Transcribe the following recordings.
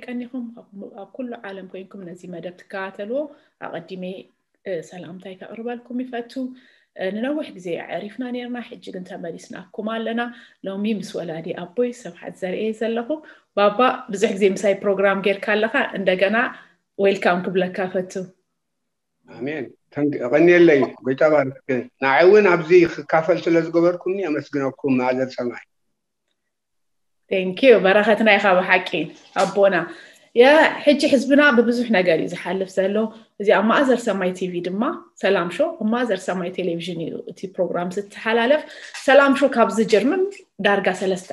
ቀኒኹም ኣብ ኩሉ ዓለም ኮይንኩም ነዚ መደብ ትከታተልዎ ኣቐዲመ ሰላምታይ ከቕርበልኩም ይፈቱ። ንነዊሕ ግዜ ኣዕሪፍና ነርና፣ ሕጂ ግን ተመሊስናኩም ኣለና። ሎሚ ምስ ወላዲ ኣቦይ ሰብሓት ዘርእየ ዘለኹ። ባባ፣ ብዙሕ ግዜ ምሳይ ፕሮግራም ጌርካ ኣለኻ፣ እንደገና ዌልካም ክብለካ ፈቱ። ኣሜን። ተንክ- ቀኒየለይ። ጎይታ ባርክ። ንዓይ እውን ኣብዚ ክካፈል ስለ ዝገበርኩምኒ ኣመስግነኩም። ማዘር ሰማይ። Thank you። በረኸትና ኢኻ ብሓቂ ኣቦና። ሕጂ ህዝብና ብብዙሕ ነገር እዩ ዝሓልፍ ዘሎ። እዚ ኣብ ማእዘር ሰማይ ቲቪ ድማ ሰላም ሾው ኣብ ማእዘር ሰማይ ቴሌቪዥን እዩ እቲ ፕሮግራም ዝተሓላለፍ። ሰላም ሾው ካብ ዝጅምር ዳርጋ ሰለስተ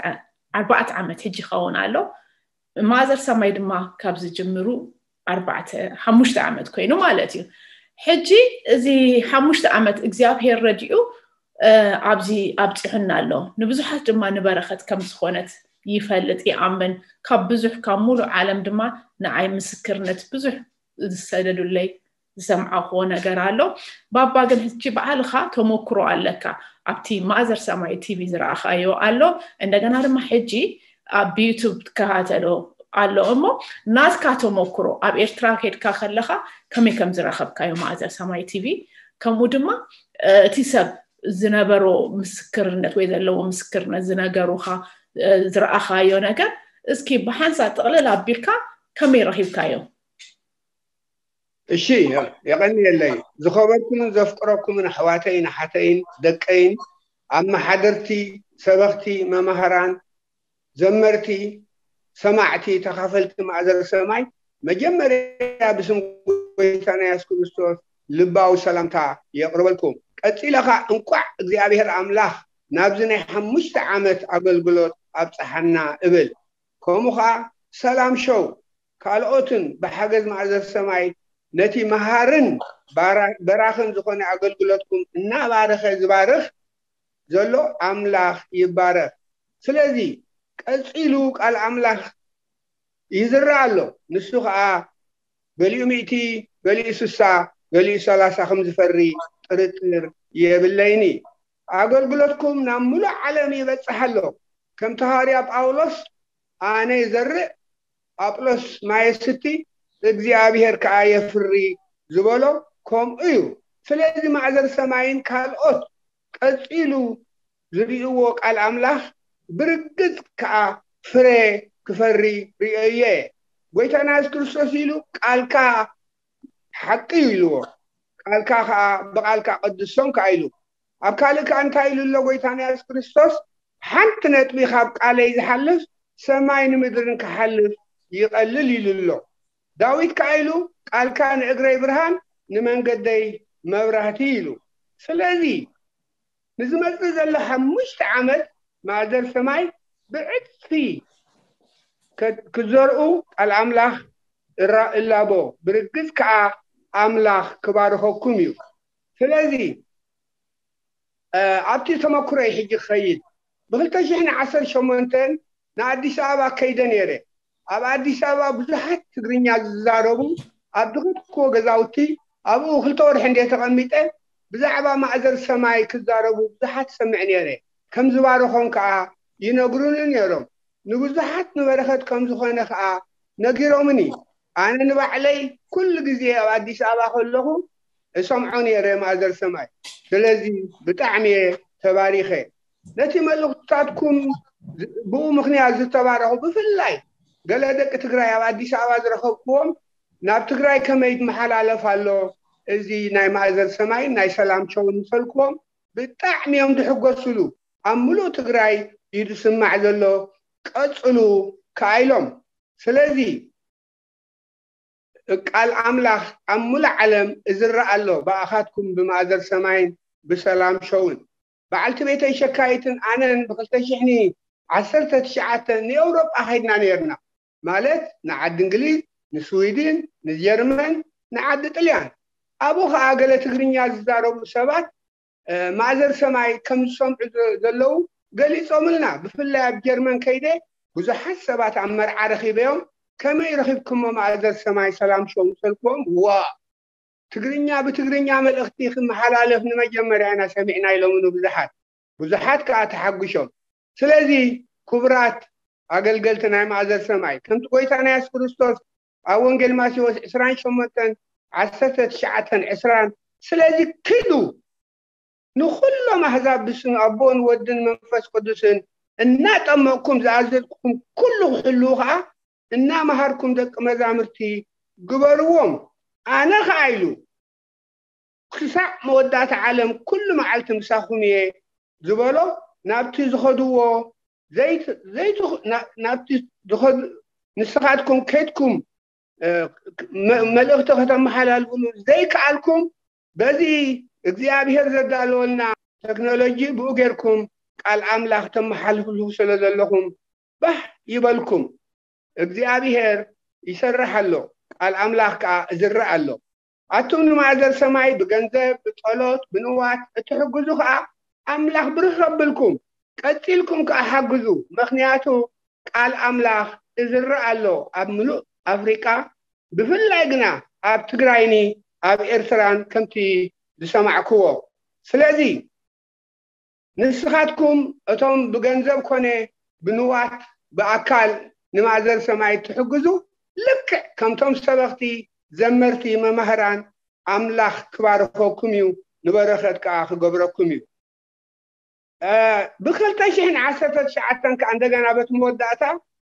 ኣርባዕተ ዓመት ሕጂ ይኸውን ኣሎ። ማእዘር ሰማይ ድማ ካብ ዝጅምሩ ኣርባዕተ ሓሙሽተ ዓመት ኮይኑ ማለት እዩ። ሕጂ እዚ ሓሙሽተ ዓመት እግዚኣብሔር ረዲኡ ኣብዚ ኣብፂሑና ኣሎ። ንብዙሓት ድማ ንበረኸት ከም ዝኾነት ይፈልጥ ይኣምን። ካብ ብዙሕ ካብ ሙሉእ ዓለም ድማ ንዓይ ምስክርነት ብዙሕ ዝሰደዱለይ ዝሰምዓኽዎ ነገር ኣሎ። ባባ ግን ሕጂ ባዕልኻ ተመክሮ ኣለካ። ኣብቲ ማእዘር ሰማይ ቲቪ ዝረኣኻዮ ኣሎ። እንደገና ድማ ሕጂ ኣብ ዩቱብ ትከታተሎ ኣሎ እሞ ናትካ ተመክሮ ኣብ ኤርትራ ከድካ ከለኻ ከመይ ከም ዝረኸብካዮ ማእዘር ሰማይ ቲቪ ከምኡ ድማ እቲ ሰብ ዝነበሮ ምስክርነት ወይ ዘለዎ ምስክርነት ዝነገሩኻ ዝረኣኻዮ ነገር እስኪ ብሓንሳ ጥቕልል ኣቢልካ ከመይ ረኺብካዮ? እሺ፣ የቐንየለይ። ዝኸበርኩምን ዘፍቅረኩምን ኣሕዋተይን ኣሓተይን ደቀይን ኣመሓደርቲ፣ ሰበኽቲ፣ መማህራን፣ ዘመርቲ፣ ሰማዕቲ፣ ተኻፈልቲ ማእዘር ሰማይ፣ መጀመርያ ብስም ጎይታና የሱስ ክርስቶስ ልባዊ ሰላምታ የቕርበልኩም። ቀጺለ ኸኣ እንቋዕ እግዚኣብሔር ኣምላኽ ናብዚ ናይ ሓሙሽተ ዓመት ኣገልግሎት ኣብጽሓና እብል። ከምኡ ኸኣ ሰላም ሾው ካልኦትን ብሓገዝ ማእዘር ሰማይ ነቲ መሃርን በራኽን ዝኾነ ኣገልግሎትኩም እናባረኸ ዝባርኽ ዘሎ ኣምላኽ ይባረኽ። ስለዚ ቀጺሉ ቃል ኣምላኽ ይዝራእ ኣሎ። ንሱ ኸኣ ገሊኡ ሚእቲ፣ ገሊኡ ስሳ፣ ገሊኡ ሰላሳ ከም ዝፈሪ ጥርጥር የብለይኒ። ኣገልግሎትኩም ናብ ሙሉእ ዓለም ይበጽሕ ኣሎ። ከምቲ ሃዋርያ ጳውሎስ ኣነ ይዘርእ ኣጵሎስ ማይ የስቲ እግዚኣብሔር ከኣ የፍሪ ዝበሎ ከምኡ እዩ። ስለዚ ማእዘር ሰማይን ካልኦት ቀጺሉ ዝርእይዎ ቃል ኣምላኽ ብርግጽ ከኣ ፍረ ክፈሪ ርእየዮ እየ። ጎይታና የሱስ ክርስቶስ ኢሉ ቃልካ ሓቂ እዩ ኢልዎ። ቃልካ ከኣ ብቃልካ ቀድሶም ከኣ ኢሉ ኣብ ካልእ ከኣ እንታይ ኢሉ ኣሎ ጎይታና የሱስ ክርስቶስ ሓንቲ ነጥቢ ካብ ቃለይ ዝሓልፍ ሰማይ ንምድርን ክሓልፍ ይቐልል ኢሉ ኣሎ። ዳዊት ከኣ ኢሉ ቃልካ ንእግረይ ብርሃን ንመንገደይ መብራህቲ ኢሉ። ስለዚ ንዝመጽእ ዘሎ ሓሙሽተ ዓመት ማእዘር ሰማይ ብዕጽፊ ክዘርኡ ቃል ኣምላኽ እላቦ ብርግጽ ከኣ ኣምላኽ ክባርኸኩም እዩ። ስለዚ ኣብቲ ተመክሮይ ሕጂ ክኸይድ ብክልተ ሽሕን ዓሰርተ ሸሞንተን ንኣዲስ ኣበባ ከይደ ነይረ። ኣብ ኣዲስ ኣበባ ብዙሓት ትግርኛ ዝዛረቡ ኣብ ዝኸድክዎ ገዛውቲ ኣብኡ ክልተ ወርሒ እንደ ተቐሚጠ ብዛዕባ ማእዘር ሰማይ ክዛረቡ ብዙሓት ሰምዕ ነይረ። ከም ዝባረኾም ከኣ ይነግሩኒ ነይሮም። ንብዙሓት ንበረኸት ከም ዝኾነ ከኣ ነጊሮምኒ። ኣነ ንባዕለይ ኩሉ ግዜ ኣብ ኣዲስ ኣበባ ከለኹ እሰምዖ ነይረ ማእዘር ሰማይ። ስለዚ ብጣዕሚ እየ ተባሪኸ። ነቲ መልእኽትታትኩም ብኡ ምኽንያት ዝተባረኹ ብፍላይ ገለ ደቂ ትግራይ ኣብ ኣዲስ ኣበባ ዝረኸብክዎም ናብ ትግራይ ከመይ ይመሓላለፍ ኣሎ እዚ ናይ ማእዘር ሰማይን ናይ ሰላም ሾውን ምስ በልክዎም ብጣዕሚ እዮም ዝሕጎስሉ። ኣብ ሙሉእ ትግራይ እዩ ዝስማዕ ዘሎ። ቀጽሉ ከኣ ኢሎም። ስለዚ ቃል ኣምላኽ ኣብ ሙሉእ ዓለም እዝረ ኣሎ፣ ብኣኻትኩም ብማእዘር ሰማይን ብሰላም ሾውን። በዓልቲ ቤተይ ሸካይትን ኣነን ብኽልተ ሽሕን ዓሰርተ ትሽዓተ ንኤውሮጳ ኸይድና ነይርና፣ ማለት ንዓዲ እንግሊዝ፣ ንስዊድን፣ ንጀርመን፣ ንዓዲ ጥልያን። ኣብኡ ኸኣ ገለ ትግርኛ ዝዛረቡ ሰባት ማእዘር ሰማይ ከም ዝሰምዑ ዘለዉ ገሊጾምልና። ብፍላይ ኣብ ጀርመን ከይደ ብዙሓት ሰባት ኣብ መርዓ ረኺበዮም፣ ከመይ ረኺብኩሞ ማእዘር ሰማይ ሰላም ሾው ምስ በልክዎም፣ ዋ፣ ትግርኛ ብትግርኛ መልእኽቲ ክመሓላለፍ ንመጀመርያ ኢና ሰሚዕና ኢሎምኒ ብዙሓት። ብዙሓት ከኣ ተሓጒሾም። ስለዚ ክቡራት ኣገልገልቲ ናይ ማእዘር ሰማይ፣ ከምቲ ጎይታና የሱስ ክርስቶስ ኣብ ወንጌል ማቴዎስ ዕስራን ሸሞንተን ዓሰርተ ትሽዓተን ዕስራን፣ ስለዚ ኪዱ ንኹሎም ኣህዛብ ብስም ኣቦን ወድን መንፈስ ቅዱስን እናጠመቕኩም ዝኣዘዝኩኹም ኩሉ ክሕልዉ ኸኣ እናመሃርኩም ደቂ መዛሙርቲ ግበርዎም። ኣነ ኸኣ ኢሉ ክሳዕ መወዳእታ ዓለም ኩሉ መዓልቲ ምሳኹም እየ ዝበሎ፣ ናብቲ ዝኸድዎ ዘይት- ዘይት- ና- ናብቲ ዝኸድ ንስኻትኩም ከድኩም እ፣ መ- መልእኽቲ ከተመሓላልፉሉ ዘይከኣልኩም፣ በዚ እግዚኣብሔር ዘዳለወልና ቴክኖሎጂ ብኡ ጌርኩም ቃል ኣምላኽ ተመሓልፍሉ ስለ ዘለኹም ባህ ይበልኩም። እግዚኣብሔር ይሰርሕ ኣሎ፣ ቃል ኣምላኽ ከኣ እዝርእ ኣሎ። ኣቱም ንማእዘር ሰማይ ብገንዘብ፣ ብጸሎት፣ ብንዋት እትሕግዙ ከኣ ኣምላኽ ብርኽ ከብልኩም፣ ቀጺልኩም ከኣ ሓግዙ። ምኽንያቱ ቃል ኣምላኽ እዝርእ ኣሎ ኣብ ምሉእ ኣፍሪቃ፣ ብፍላይ ግና ኣብ ትግራይኒ ኣብ ኤርትራን ከምቲ ዝሰማዕክዎ። ስለዚ ንስኻትኩም እቶም ብገንዘብ ኮነ ብንዋት ብኣካል ንማእዘር ሰማይ ትሕግዙ፣ ልክዕ ከምቶም ሰበኽቲ፣ ዘመርቲ፣ መማህራን ኣምላኽ ክባርኸኩም እዩ፣ ንበረኸት ከኣ ክገብረኩም እዩ። እ፣ ብኽልተ ሽሕን ዓሰርተ ትሽዓተን ከኣ እንደገና በቲ መወዳእታ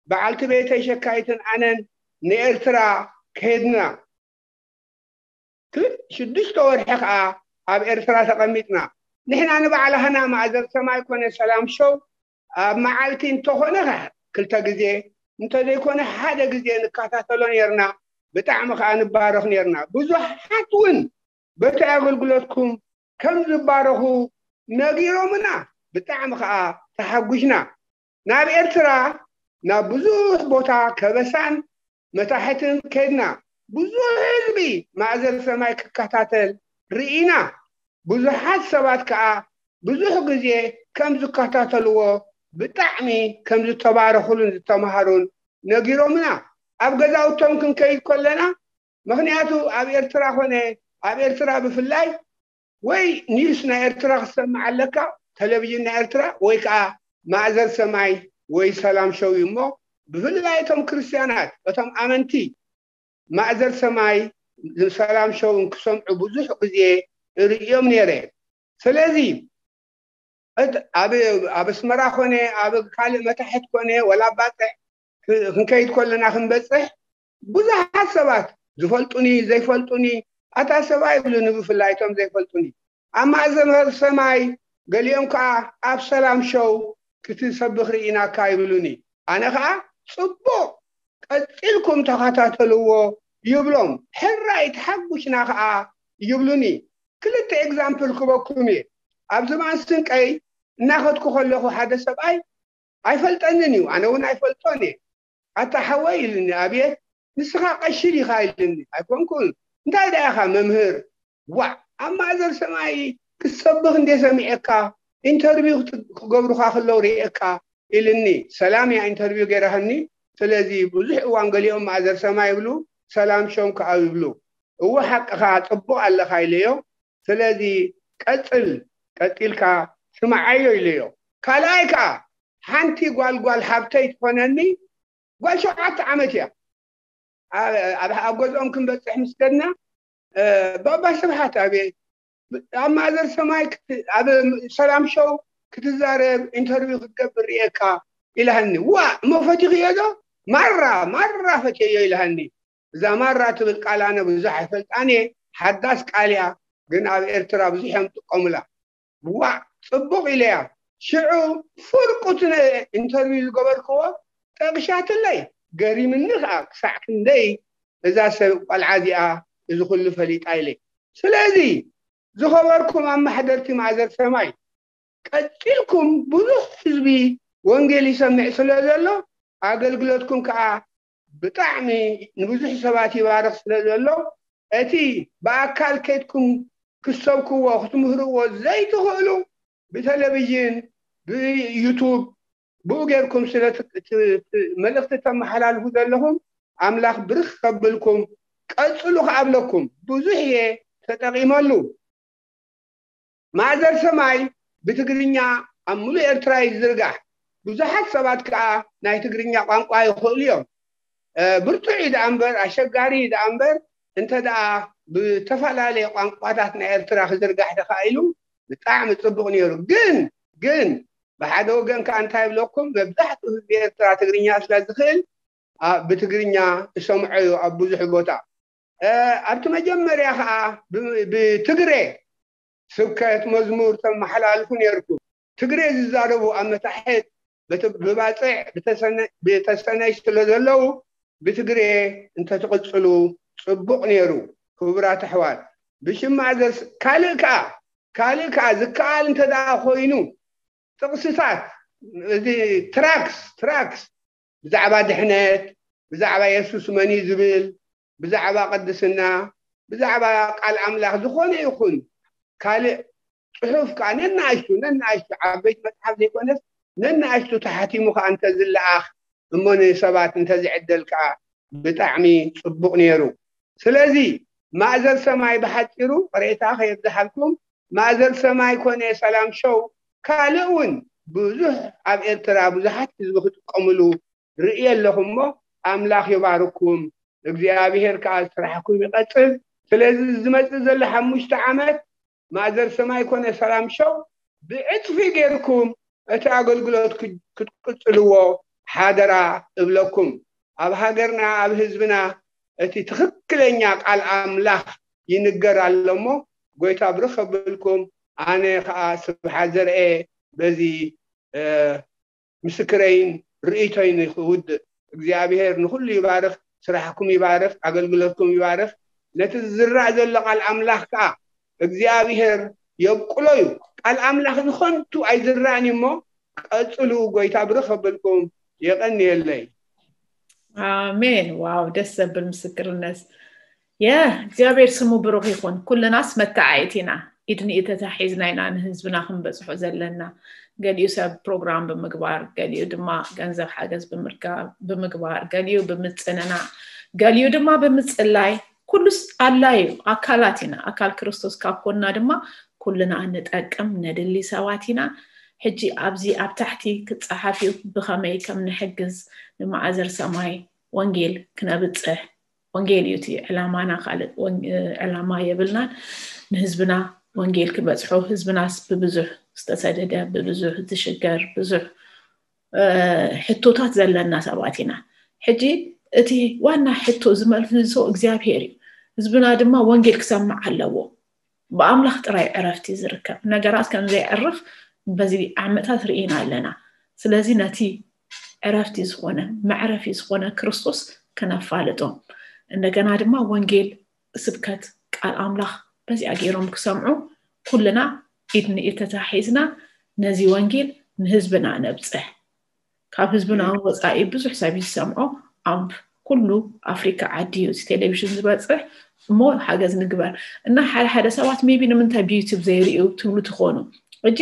በዓልቲ ቤተይ ሸካይትን ኣነን ንኤርትራ ከድና። ክልተ ሽዱሽተ ወርሒ ከኣ ኣብ ኤርትራ ተቐሚጥና። ንሕና ንባዕላህና ማእዘር ሰማይ ኮነ ሰላም ሾው ኣብ መዓልቲ እንተኾነ ከ ክልተ ግዜ እንተዘይኮነ ሓደ ግዜ ንከታተሎ ነርና። ብጣዕሚ ከኣ ንባረኽ ነርና። ብዙሓት እውን በቲ ኣገልግሎትኩም ከም ዝባረኹ ነጊሮምና። ብጣዕሚ ከኣ ተሓጒስና። ናብ ኤርትራ ናብ ብዙሕ ቦታ ከበሳን መታሕትን ከድና። ብዙሕ ህዝቢ ማእዘር ሰማይ ክከታተል ርኢና። ብዙሓት ሰባት ከኣ ብዙሕ ግዜ ከም ዝከታተልዎ፣ ብጣዕሚ ከም ዝተባረኹሉን ዝተምሃሩን ነጊሮምና። ኣብ ገዛውቶም ክንከይድ ከለና፣ ምኽንያቱ ኣብ ኤርትራ ኾነ ኣብ ኤርትራ ብፍላይ ወይ ኒውስ ናይ ኤርትራ ክትሰምዕ ኣለካ፣ ቴሌቪዥን ናይ ኤርትራ፣ ወይ ከዓ ማእዘር ሰማይ ወይ ሰላም ሾው እዩ። እሞ ብፍላይ እቶም ክርስትያናት፣ እቶም ኣመንቲ ማእዘር ሰማይ ሰላም ሾው ክሰምዑ ብዙሕ ግዜ እርእዮም ነይረ። ስለዚ እት- ኣብ ኣብ ኣስመራ ኮነ ኣብ ካልእ መታሕት ኮነ ወላ ኣብ ባፅዕ ክ- ክንከይድ ከለና ክንበፅሕ ብዙሓት ሰባት ዝፈልጡኒ ዘይፈልጡኒ ኣታ ሰብኣይ ይብሉኒ፣ ብፍላይ እቶም ዘይፈልጡኒ ኣብ ማእዘር ሰማይ፣ ገሊኦም ከዓ ኣብ ሰላም ሾው ክትሰብኽ ርኢናካ ይብሉኒ። ኣነ ከዓ ፅቡቕ ቀፂልኩም ተኸታተልዎ ይብሎም። ሕራይ ተሓጉሽና ከዓ ይብሉኒ። ክልተ ኤግዛምፕል ክበኩም እየ። ኣብ ዝባን ስንቀይ እናኸድኩ ከለኹ ሓደ ሰብኣይ ኣይፈልጠንን እዩ፣ ኣነ እውን ኣይፈልጦን እየ። ኣታ ሓወይ ኢልኒ። ኣቤት ንስኻ ቀሺ ዲኻ ኢልኒ። ኣይኮንኩን። እንታይ ደኣ ኢኻ መምህር? ዋዕ ኣብ ማእዘር ሰማይ ክትሰብኽ እንደ ሰሚዐካ ኢንተርቪው ክት- ክገብሩኻ ከለዉ ርእየካ ኢልኒ። ሰላም እያ ኢንተርቪው ገይራህኒ። ስለዚ ብዙሕ እዋን ገሊኦም ማእዘር ሰማይ ይብሉ፣ ሰላም ሾው ከዓ ይብሉ። እወ ሓቅኻ ጽቡቕ ኣለኻ ኢለዮ። ስለዚ ቀጽል፣ ቀጺልካ ስምዓዮ ኢለዮ። ካልኣይ ከዓ ሓንቲ ጓል ጓል ሓብተይ ትኾነኒ ጓል ሸውዓተ ዓመት እያ። ኣብ ኣብ- ኣብ ገዝኦም ክንበፅሕ ምስ ከድና እ፣ ባባ ስብሓት ኣቤት ኣብ ማእዘር ሰማይ ክት- ኣብ ሰላም ሾው ክትዛረብ ኢንተርቪው ክትገብር ርእየካ ኢላሃኒ። ዋ እሞ ፈቲኽዮ ዶ? ማራ ማራ ፈትየዮ ኢላሃኒ። እዛ ማራ ትብል ቃል ኣነ ብዙሕ ኣይፈልጣን እየ፣ ሓዳስ ቃል እያ፣ ግን ኣብ ኤርትራ ብዙሕ እዮም ጥቀሙላ። ዋዕ ጽቡቕ ኢለያ። ሽዑ ፍርቁ እቲ ኢንተርቪው ዝገበርክዎ ጠቕሻትለይ፣ ገሪምኒ ኸኣ ክሳዕ ክንደይ እዛ ሰብ ቆልዓ እዚኣ እዚ ኩሉ ፈሊጣ ኢለ። ስለዚ ዝኸበርኩም ኣማሕደርቲ ማእዘር ሰማይ፣ ቀጺልኩም ብዙሕ ህዝቢ ወንጌል ይሰምዕ ስለ ዘሎ፣ ኣገልግሎትኩም ከዓ ብጣዕሚ ንብዙሕ ሰባት ይባርኽ ስለ ዘሎ፣ እቲ ብኣካል ከይድኩም ክትሰብክዎ ክትምህርዎ ዘይትኽእሉ፣ ብቴሌቪዥን፣ ብዩቱብ፣ ብኡ ጌርኩም ስለ ት- ት- ት- መልእኽቲ ተመሓላልፉ ዘለኹም፣ ኣምላኽ ብርኽ ከብልኩም፣ ቀጽሉ ክኣብለኩም። ብዙሕ እየ ተጠቒመሉ። ማእዘር ሰማይ ብትግርኛ ኣብ ሙሉእ ኤርትራ ይዝርጋሕ። ብዙሓት ሰባት ከዓ ናይ ትግርኛ ቋንቋ ይኽእሉ እዮም። ብርቱዕ እዩ ደኣ እምበር፣ ኣሸጋሪ እዩ ደኣ እምበር፣ እንተ ደኣ ብተፈላለየ ቋንቋታት ናይ ኤርትራ ክዝርጋሕ ተኻኢሉ ብጣዕሚ ጽቡቕ ነይሩ። ግን ግን ብሓደ ወገን ከዓ እንታይ ይብለኩም፣ መብዛሕትኡ ህዝቢ ኤርትራ ትግርኛ ስለ ዝኽእል፣ ብትግርኛ እሰምዖ እዩ ኣብ ብዙሕ ቦታ። ኣብቲ መጀመርያ ከዓ ብትግረ ስብከት መዝሙር ተመሓላልፉ ነርኩም። ትግሬ ዝዛረቡ ኣብ መታሕት ብባፅዕ ብተሰነይ ስለ ዘለዉ ብትግሬ እንተትቕፅሉ ፅቡቕ ነይሩ። ክቡራት ኣሕዋት፣ ብሽም ማእዘር ካልእ ከዓ ካልእ ከዓ ዝከኣል እንተ ደኣ ኮይኑ ጥቕስታት፣ እዚ ትራክስ ትራክስ ብዛዕባ ድሕነት፣ ብዛዕባ የሱስ መን እዩ ዝብል፣ ብዛዕባ ቅድስና፣ ብዛዕባ ቃል ኣምላኽ ዝኾነ ይኹን ካልእ ፅሑፍ ከዓ ነናእሽቱ ነናእሽቱ ዓበይቲ መፅሓፍ ዘይኮነስ ነናእሽቱ ተሓቲሙ ከዓ እንተዝለኣኽ እሞ ንሰባት እንተዝዕደል ከዓ ብጣዕሚ ፅቡቕ ነይሩ። ስለዚ ማእዘር ሰማይ ብሓፂሩ ቅሬታ ከየብዝሓልኩም፣ ማእዘር ሰማይ ኮነ ሰላም ሾው ካልእ እውን ብዙሕ ኣብ ኤርትራ ብዙሓት ህዝቢ ክጥቀምሉ ርእየ ኣለኹ እሞ ኣምላኽ ይባርኩም። እግዚኣብሔር ከዓ ስራሕኩም ይቐጽል። ስለዚ ዝመጽእ ዘሎ ሓሙሽተ ዓመት ማእዘር ሰማይ ኮነ ሰላም ሾው ብዕጽፊ ጌርኩም እቲ ኣገልግሎት ክትቅጽልዎ ሓደራ እብለኩም። ኣብ ሃገርና ኣብ ህዝብና እቲ ትኽክለኛ ቃል ኣምላኽ ይንገር ኣሎ እሞ ጎይታ ብርኽ ከብልኩም። ኣነ ከዓ ስብሓት ዘርኤ በዚ ምስክረይን ርእይቶይን ክውድእ። እግዚኣብሔር ንኹሉ ይባርኽ፣ ስራሕኩም ይባርኽ፣ ኣገልግሎትኩም ይባርኽ። ነቲ ዝዝራእ ዘሎ ቃል ኣምላኽ ከዓ እግዚኣብሔር የብቁሎ እዩ። ቃል ኣምላኽ ንኸንቱ ኣይዝራእን እዩ እሞ ቀጽሉ። ጎይታ ብርኽ ከብልኩም። የቐንየለይ። ኣሜን። ዋው፣ ደስ ዘብል ምስክርነት። የ እግዚኣብሔር ስሙ ብሩኽ ይኹን። ኩልናስ መተዓየት ኢና። ኢድ ንኢድ ተታሒዝና ኢና ንህዝብና ክንበፅሖ ዘለና። ገሊኡ ሰብ ፕሮግራም ብምግባር፣ ገሊኡ ድማ ገንዘብ ሓገዝ ብምርካብ ብምግባር፣ ገሊኡ ብምፅንናዕ፣ ገሊኡ ድማ ብምፅላይ። ኩሉስ ኣድላይ እዩ። ኣካላት ኢና። ኣካል ክርስቶስ ካብ ኮንና ድማ ኩልና እንጠቅም ነድሊ ሰባት ኢና። ሕጂ ኣብዚ ኣብ ታሕቲ ክፀሓፍ እዩ ብኸመይ ከም ንሕግዝ ንማእዘር ሰማይ ወንጌል ክነብፅሕ። ወንጌል እዩ እቲ ዕላማና፣ ካልእ ዕላማ የብልናን። ንህዝብና ወንጌል ክበፅሖ፣ ህዝብናስ ብብዙሕ ዝተሰደደ፣ ብብዙሕ ዝሽገር፣ ብዙሕ ሕቶታት ዘለና ሰባት ኢና። ሕጂ እቲ ዋና ሕቶ ዝመልሶ እግዚኣብሔር እዩ። ህዝብና ድማ ወንጌል ክሰምዕ ኣለዎ። ብኣምላኽ ጥራይ ዕረፍቲ ዝርከብ። ነገራት ከም ዘይዕርፍ በዚ ዓመታት ርኢና ኣለና። ስለዚ ነቲ ዕረፍቲ ዝኾነ፣ መዕረፊ ዝኾነ ክርስቶስ ክነፋልጦም፣ እንደገና ድማ ወንጌል ስብከት ቃል ኣምላኽ በዚኣ ገይሮም ክሰምዑ ኩልና ኢድ ንኢድ ተታሒዝና ነዚ ወንጌል ንህዝብና ነብፅሕ። ካብ ህዝብና እውን ወፃኢ ብዙሕ ሰብ እዩ ዝሰምዖ። ኣብ ኩሉ ኣፍሪካ ዓዲ እዩ እቲ ቴሌቪዥን ዝበፅሕ። እሞ ሓገዝ ንግበር እና ሓደ ሓደ ሰባት maybe ንምንታይ ብዩቱብ ዘይርእዩ ትብሉ ትኾኑ። ሕጂ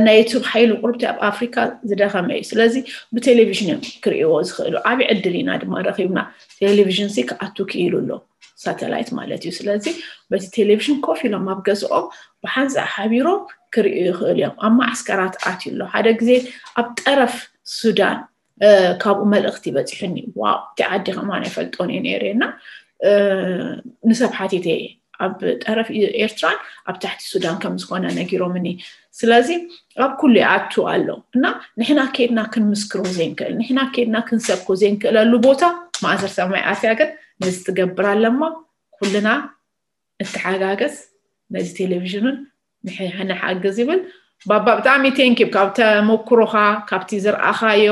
ናይ ዩቱብ ሓይሉ ቁርብቲ ኣብ ኣፍሪካ ዝደኸመ እዩ። ስለዚ ብቴሌቪዥን እዮም ክርእይዎ ዝኽእሉ። ዓብዪ ዕድል ኢና ድማ ረኺብና። ቴሌቪዥን ሲ ክኣቱ ክኢሉ ኣሎ፣ ሳተላይት ማለት እዩ። ስለዚ በቲ ቴሌቪዥን ኮፍ ኢሎም ኣብ ገዝኦም ብሓንሳእ ሓቢሮም ክርእዩ ይኽእሉ እዮም። ኣብ ማዓስከራት ኣትዩ ኣሎ። ሓደ ግዜ ኣብ ጠረፍ ሱዳን ካብኡ መልእኽቲ በፂሑኒ። ዋው፣ እቲ ዓዲ ከማን ኣይፈልጦን እየ ነይረ እና ንሰብ ሓቲተ እየ። ኣብ ጠረፍ ኤርትራን ኣብ ታሕቲ ሱዳን ከም ዝኾነ ነጊሮምኒ። ስለዚ ኣብ ኩሉ ይኣቱ ኣሎ እና ንሕና ከይድና ክንምስክሮ ዘይንክእል፣ ንሕና ከይድና ክንሰብኮ ዘይንክእለሉ ቦታ ማእዘር ሰማይ ኣትያ ግን ነዚ ትገብር ኣለማ። ኩልና እተሓጋገዝ ነዚ ቴሌቪዥንን ንሓግዝ ይብል። ባባ ብጣዕሚ ቴንኪ ካብ ተመኩሮኻ ካብቲ ዝረኣኻዮ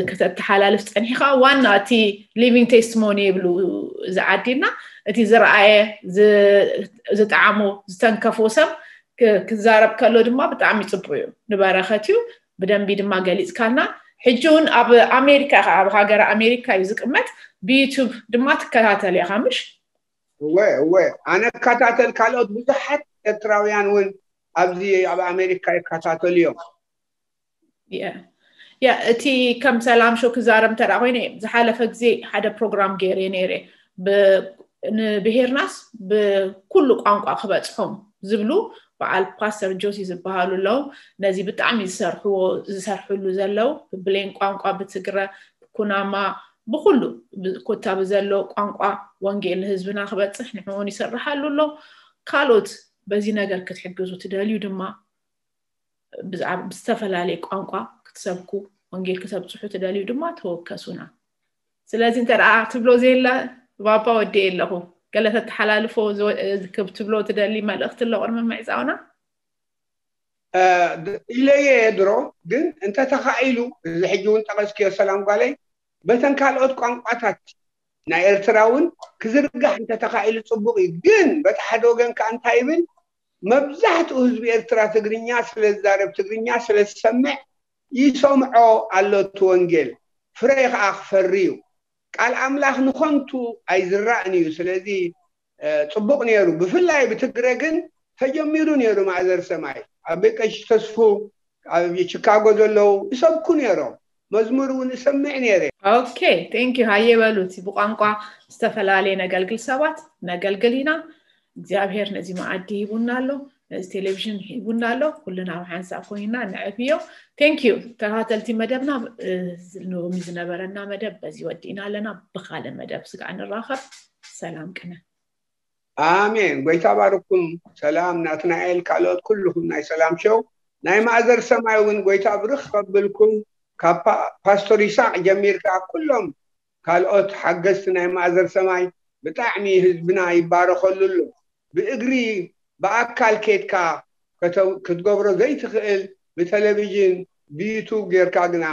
ከተተሓላልፍ ፀኒሕካ ዋና እቲ living testimony ይብሉ ዝዓዲና እቲ ዝረኣየ ዝጠዓሞ ዝተንከፎ ሰብ ክዛረብ ከሎ ድማ ብጣዕሚ ፅቡቅ እዩ፣ ንበረኸት እዩ። ብደንቢ ድማ ገሊፅካልና። ሕጂ እውን ኣብ ኣሜሪካ ኢኻ፣ ኣብ ሃገር ኣሜሪካ እዩ ዝቅመጥ። ብዩቱብ ድማ ትከታተል ኢኻ ምሽ? እወ እወ፣ ኣነ እከታተል፣ ካልኦት ብዙሓት ኤርትራውያን እውን ኣብዚ ኣብ ኣሜሪካ ይከታተሉ እዮም። ያ እቲ ከም ሰላም ሾው ክዛረብ እንተ ኮይነ፣ ዝሓለፈ ግዜ ሓደ ፕሮግራም ገይረ ነይረ፣ ንብሄርናስ ብኩሉ ቋንቋ ክበፅሖም ዝብሉ በዓል ፓስተር ጆሲ ዝበሃሉ ኣለዉ። ነዚ ብጣዕሚ ዝሰርሕዎ ዝሰርሕሉ ዘለዉ ብብሌን ቋንቋ፣ ብትግረ፣ ብኩናማ፣ ብኩሉ ኮታ ብዘሎ ቋንቋ ወንጌል ንህዝብና ክበፅሕ ንዕኡን ይሰርሓሉ ኣሎ። ካልኦት በዚ ነገር ክትሕግዙ ትደልዩ ድማ ብዝተፈላለየ ቋንቋ ክትሰብኩ ወንጌል ክተብፅሑ ትደልዩ ድማ ተወከሱና። ስለዚ እንተ ደኣ ትብሎ ዘየለ ባባ ወዲ ኣለኹ፣ ገለ ተተሓላልፎ ትብሎ ትደሊ መልእኽቲ ኣሎ ቅድሚ ምዕፃውና? ኢለየ ድሮ ግን እንተተኻኢሉ፣ እዚ ሕጂ እውን ጠቐስክዮ ሰላም ጓለይ፣ በተን ካልኦት ቋንቋታት ናይ ኤርትራ እውን ክዝርጋሕ እንተተኻኢሉ ፅቡቅ እዩ። ግን በቲ ሓደ ወገን ከዓ እንታይ ይብል፣ መብዛሕትኡ ህዝቢ ኤርትራ ትግርኛ ስለ ዝዛረብ፣ ትግርኛ ስለ ዝሰምዕ ይሰምዖ ኣሎ እቲ ወንጌል፣ ፍረ ከዓ ክፈሪ እዩ። ቃል ኣምላኽ ንኸንቱ ኣይዝራእን እዩ። ስለዚ ፅቡቅ ነይሩ። ብፍላይ ብትግረ ግን ተጀሚሩ ነይሩ። ማእዘር ሰማይ ኣብ ቀሺ ተስፉ ኣብ ቺካጎ ዘለዉ ይሰብኩ ነይሮም። መዝሙር እውን እሰምዕ ነይረ። ኦኬ፣ ቴንክ ዩ። ሃየ በሉ፣ እቲ ብቋንቋ ዝተፈላለየ ነገልግል ሰባት ነገልግል ኢና። እግዚኣብሔር ነዚ መኣዲ ሂቡና ኣሎ፣ ነዚ ቴሌቪዥን ሂቡና ኣሎ። ኩልና ኣብ ሓንሳብ ኮይና ንዕብዮ። ቴንክ ዩ። ተኸታተልቲ መደብና፣ ሎሚ ዝነበረና መደብ በዚ ወዲእና ኣለና። ብካልእ መደብ ስጋዕ ንራኸብ። ሰላም ቅነ። ኣሜን። ጎይታ ባርኩም። ሰላም ናትናኤል፣ ካልኦት ኩልኹም ናይ ሰላም ሸው፣ ናይ ማእዘር ሰማይ እውን ጎይታ ብርኽ ከብልኩም። ካብ ፓስቶር ይስሐቅ ጀሚርካ ኩሎም ካልኦት ሓገዝቲ ናይ ማእዘር ሰማይ ብጣዕሚ ህዝብና ይባረኸሉ ኣሎ። ብእግሪ ብኣካል ኬድካ ክትገብሮ ዘይትኽእል ብቴሌቪዥን ብዩቱብ ጌርካ ግና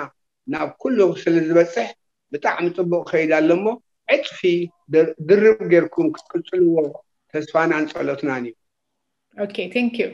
ናብ ኩሉ ስለ ዝበፅሕ ብጣዕሚ ፅቡቅ ከይድ ኣሎ እሞ ዕፅፊ ድርብ ጌርኩም ክትቅፅልዎ ተስፋናን ፀሎትናን እዩ። ኦኬ፣ ቴንክ ዩ።